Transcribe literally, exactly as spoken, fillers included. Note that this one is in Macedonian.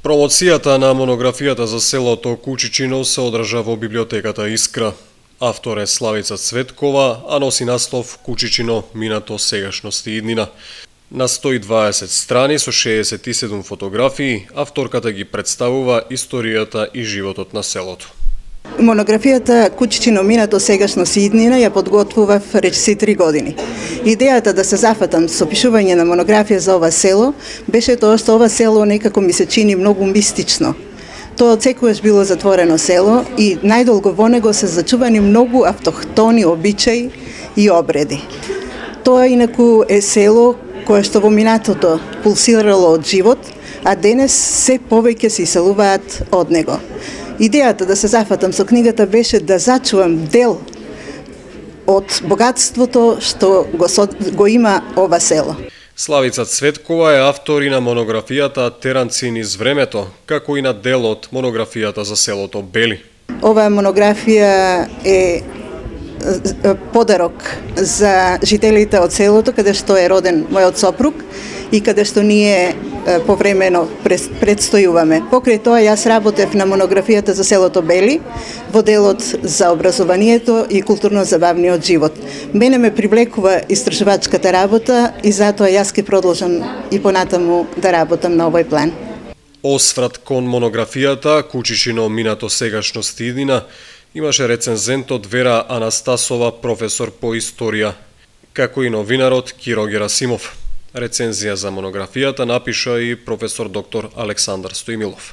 Промоцијата на монографијата за селото Кучичино се одржа во библиотеката Искра. Автор е Славица Цветкова, а носи наслов Кучичино минато, сегашност и иднина. На сто и дваесет страни со шеесет и седум фотографии, авторката ги представува историјата и животот на селото. Монографијата Кучичино минато, сегашност и иднина ја подготвував речиси три години. Идејата да се зафатам со пишување на монографија за ова село беше тоа што ова село некако ми се чини многу мистично. Тоа отсекогаш било затворено село и најдолго во него се зачувани многу автохтони обичаи и обреди. Тоа инаку е село кое што во минатото пулсирало од живот, а денес се повеќе се иселуваат од него. Идејата да се зафатам со книгата беше да зачувам дел од богатството што го, со, го има ова село. Славица Цветкова е автор и на монографијата Теранци низ времето, како и на дел од монографијата за селото Бели. Оваа монографија е подарок за жителите од селото, каде што е роден мојот сопруг и каде што ние повремено предстојуваме. Покрај тоа јас работев на монографијата за селото Бели во делот за образованието и културно-забавниот живот. Мене ме привлекува истражувачката работа и затоа јас ќе продолжам и понатаму да работам на овој план. Осврат кон монографијата Кучичино минато, сегашност и иднина имаше рецензентот Вера Анастасова, професор по историја, како и новинарот Киро Герасимов. Рецензија за монографијата напиша и професор доктор Александар Стојмилов.